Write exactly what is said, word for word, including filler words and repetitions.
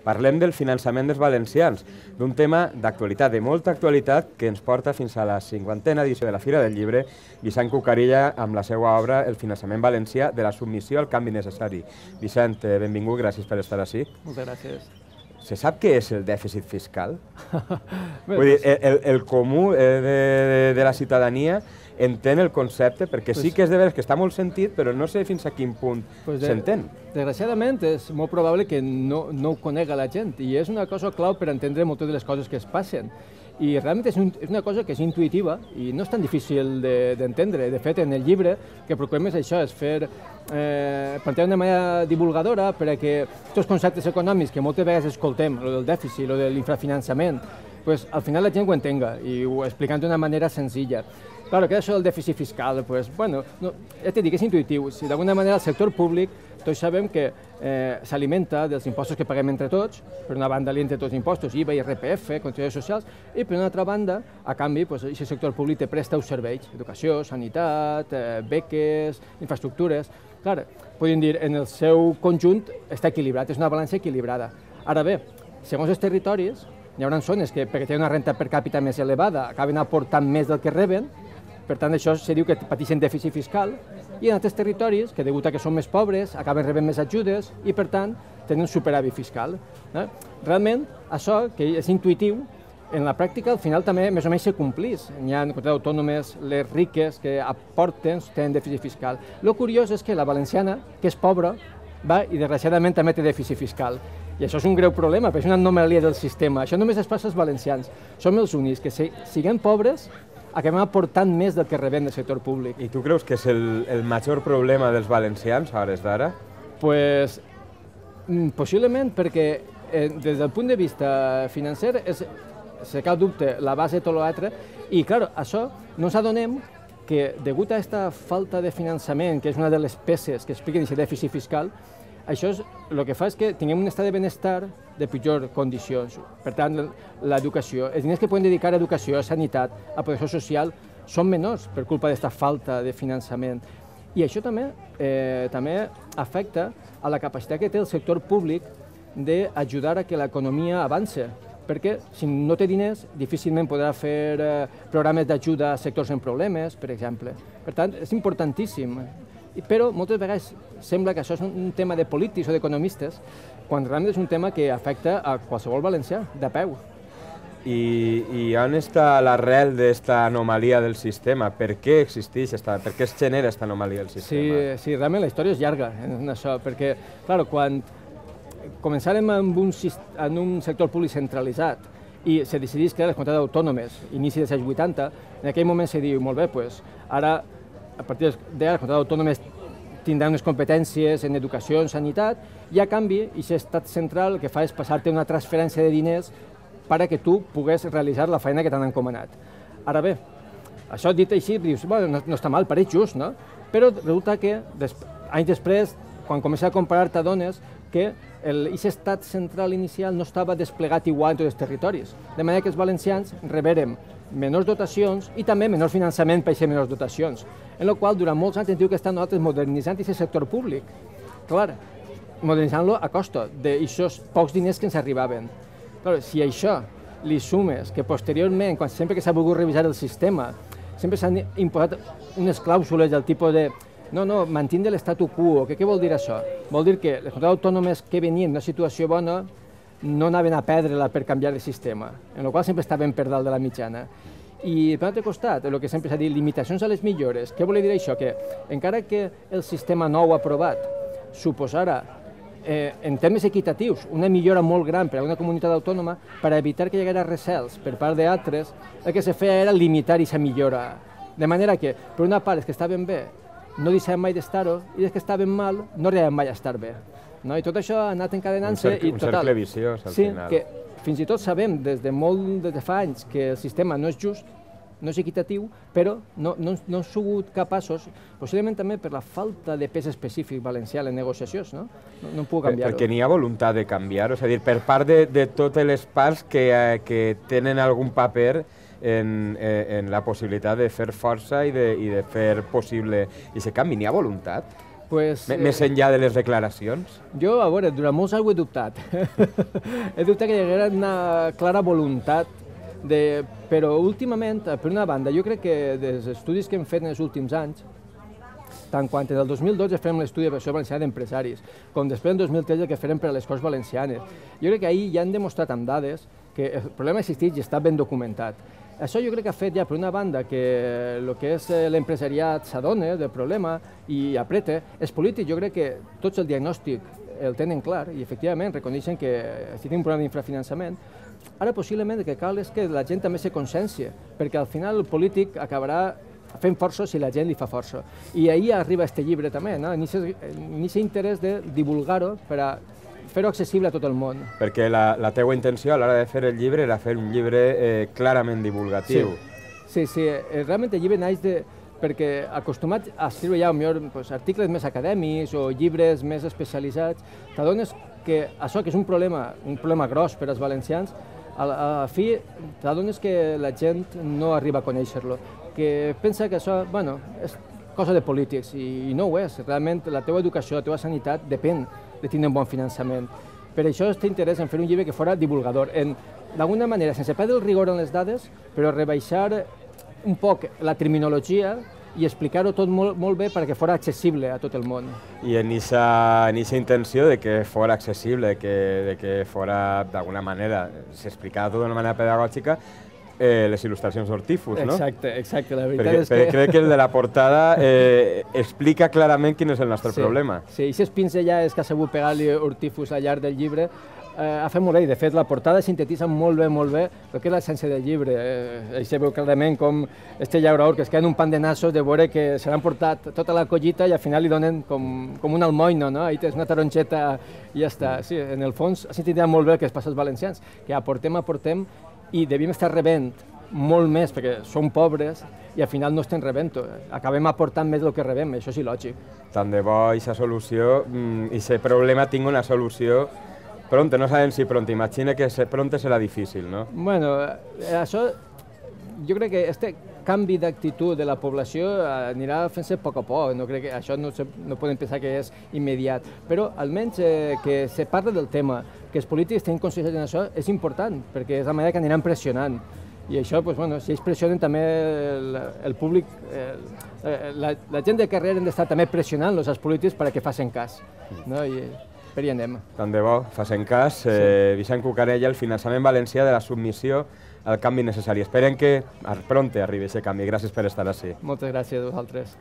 Parlem del finançament dels valencians, d'un tema d'actualitat, de molta actualitat, que ens porta fins a la cinquantena edició de la Fira del Llibre, Vicent Cucarilla amb la seva obra El finançament valencià de la submissió al canvi necessari. Vicent, benvingut, gràcies per estar ací. Moltes gràcies. Se sap què és el dèficit fiscal? Vull dir, el, el comú de, de, de la ciutadania entén el concepte, perquè sí que és de veres que està molt sentit, però no sé fins a quin punt s'entén. Desgraciadament és molt probable que no, no ho conega la gent, i és una cosa clau per entendre moltes de les coses que es passen. I realment és, un, és una cosa que és intuïtiva i no és tan difícil d'entendre. De, de fet, en el llibre que procurem és això, és fer eh, plantejar d'una manera divulgadora perquè aquests conceptes econòmics que moltes vegades escoltem, el del dèficit, el de l'infrafinançament, pues, al final la gent ho entenga i ho explicant d'una manera senzilla. Claro, que això del dèficit fiscal, pues, bueno, no, ja t'he dit que és intuïtiu. Si d'alguna manera el sector públic, tots sabem que eh, s'alimenta dels impostos que paguem entre tots, per una banda li entre tots impostos, I V A, I R P F, contribucions socials, i per una altra banda, a canvi, pues, aquest sector públic te presta uns serveis, educació, sanitat, eh, beques, infraestructures. Clar, podem dir, en el seu conjunt està equilibrat, és una balança equilibrada. Ara bé, segons els territoris, hi haurà zones que, perquè tenen una renta per càpita més elevada, acaben aportant més del que reben. Per tant, això se diu que pateixen dèficit fiscal, i en altres territoris, que degut a que són més pobres, acaben rebent més ajudes i, per tant, tenen superàvit fiscal. Realment, això, que és intuïtiu, en la pràctica, al final també més o menys se complís. Hi ha comunitats autònomes, les riques, que aporten, tenen dèficit fiscal. El curiós és que la valenciana, que és pobra, va i desgraciadament també té dèficit fiscal. I això és un greu problema, perquè és una anomalia del sistema. Això només es passa als valencians. Som els únics que, si siguem pobres, acabem aportant més del que rebem del sector públic. I tu creus que és el, el major problema dels valencians a hores d'ara? Pues, possiblement, perquè eh, des del punt de vista financer és, sense cap dubte, la base de tot l'altre, i clar, això no ens adonem que, degut a aquesta falta de finançament, que és una de les peces que expliquen aquest dèficit fiscal, això és, el que fa és que tinguem un estat de benestar de pitjor condicions. Per tant, l'educació, els diners que podem dedicar a educació, a sanitat, a protecció social, són menors per culpa d'aquesta falta de finançament. I això també, eh, també afecta a la capacitat que té el sector públic d'ajudar a que l'economia avance, perquè si no té diners, difícilment podrà fer eh, programes d'ajuda a sectors en problemes, per exemple. Per tant, és importantíssim. Però moltes vegades sembla que això és un tema de polítics o d'economistes, quan realment és un tema que afecta a qualsevol valencià, de peu. I, i on està l'arrel d'esta anomalia del sistema? Per què existeix, esta, per què es genera aquesta anomalia del sistema? Sí, sí, realment la història és llarga en això, perquè, clar, quan començàrem amb un, en un sector públic centralitzat i se decidís crear les comunitats autònomes, inici dels anys vuitanta, en aquell moment se diu, molt bé, doncs, ara a partir d'ara, les comunitats autònomes tindran unes competències en educació, en sanitat, i a canvi, aquest estat central el que fa és passar-te una transferència de diners perquè tu puguis realitzar la feina que t'han encomanat. Ara bé, això dit així, dius, bueno, no, no està mal, pareix just, no? Però resulta que, des, anys després, quan comença a comparar, t'adones que aquest estat central inicial no estava desplegat igual en tots els territoris. De manera que els valencians rebérem menors dotacions i també menor finançament per aquestes menors dotacions, en la qual durant molts anys hem dit que estan nosaltres modernitzant aquest sector públic. Clar, modernitzant-lo a costa d'aquests pocs diners que ens arribaven. Clar, si això li sumes que posteriorment, quan sempre que s'ha volgut revisar el sistema, sempre s'han imposat unes clàusules del tipus de no, no, mantindre l'estatu quo. Què vol dir això? Vol dir que les comunitats autònomes que venien en una situació bona no anaven a perdre-la per canviar el sistema, en la qual sempre estaven per dalt de la mitjana. I per l'altre costat, el que sempre s'ha dit, limitacions a les millores. Què vol dir això? Que encara que el sistema nou aprovat suposara, eh, en termes equitatius, una millora molt gran per a una comunitat autònoma, per evitar que hi hagués recels per part d'altres, el que se feia era limitar aquesta millora. De manera que, per una part, els que estaven bé no deixaven mai d'estar-ho, i els que estaven mal no arribaven mai a estar bé. No? I tot això ha anat encadenant-se i un total. cercle viciós, al sí, final. Que fins i tot sabem des de molt des de fa anys que el sistema no és just, no és equitatiu, però no, no, no han sigut capaços, possiblement també per la falta de pes específic valencià en negociacions, no? No, no puc canviar-ho. Perquè n'hi ha voluntat de canviar-ho, és a dir, per part de, de totes les parts que, eh, que tenen algun paper en, en la possibilitat de fer força i de, i de fer possible aquest canvi. N'hi ha voluntat? Pues, Més enllà de les declaracions? Jo, a veure, durant molts anys ho he dubtat. He dubtat que hi haguera una clara voluntat, de... però últimament, per una banda, jo crec que dels estudis que hem fet en els últims anys, tant quan en el dos mil dotze fem l'estudi de Associació Valenciana d'Empresaris, com després en dos mil tretze que farem per a les Corts Valencianes, jo crec que ahir ja han demostrat amb dades que el problema existeix i està ben documentat. Això jo crec que ha fet ja, per una banda, que el que és l'empresariat s'adona del problema i apreta. Els polítics, jo crec que tots el diagnòstic el tenen clar i efectivament reconeixen que si tenim un problema d'infrafinançament. Ara possiblement el que cal és que la gent també se consciència, perquè al final el polític acabarà fent força si la gent li fa força. I ahir arriba aquest llibre també, no? En aquest interès de divulgar-ho per a fer-ho accessible a tot el món. Perquè la, la teua intenció a l'hora de fer el llibre era fer un llibre eh, clarament divulgatiu. Sí, sí, sí, realment el llibre naix de... perquè acostumat a escriure ja millor, pues, articles més acadèmics o llibres més especialitzats, t'adones que això, que és un problema, un problema gros per als valencians, a la, a la fi t'adones que la gent no arriba a conèixer-lo, que pensa que això, bueno, és cosa de polítics i, i no ho és. Realment la teva educació, la teva sanitat depèn de tenir un bon finançament. Per això té interès en fer un llibre que fora divulgador, d'alguna manera, sense perdre el rigor en les dades, però rebaixar un poc la terminologia i explicar-ho tot molt, molt bé perquè fora accessible a tot el món. I en aquesta intenció de que fora accessible, de que, de que fora d'alguna manera, s'explicava tot d'una manera pedagògica, eh, les il·lustracions d'Hortífus, no? Exacte, exacte, la veritat perquè, és que... Perquè crec que el de la portada eh, explica clarament quin és el nostre sí, problema. Sí, i aquestes pinzellades que ha sabut pegar-li Hortífus al llarg del llibre eh, ha fet molt bé, de fet la portada sintetitza molt bé, molt bé el que és l'essència del llibre. Eh, Això veu clarament com este llaurador que es queda en un pan de nassos de veure que se l'han portat tota la collita i al final li donen com, com un almoino, no? Ahí tens una taronxeta i ja està. Sí, en el fons ha sintetitza molt bé el que es passa als valencians, que aportem, aportem i devim estar rebent molt més perquè som pobres i al final no estem rebent-ho. Acabem aportant més del que rebem, això és il·lògic. Tant de bo aquesta solució, i aquest problema tingui una solució pronta, no sabem si pronta, imagina que pronta serà difícil, no? Bueno, això, jo crec que este canvi d'actitud de la població anirà fent-se a poc a poc, no crec que això no, se, no podem pensar que és immediat, però almenys eh, que se parla del tema, que els polítics tenen consciència d'això és important, perquè és la manera que aniran pressionant. I això, pues, bueno, si ells pressionen també el, el públic, eh, la, la gent de carrer han d'estar també pressionant-los als polítics perquè facin cas, no? I per hi anem. Tant de bo, facin cas. Eh, Vicent Cucarella, el finançament valencià de la submissió al canvi necessari. Esperem que pronte arribi aquest canvi. Gràcies per estar ací. Moltes gràcies a vosaltres.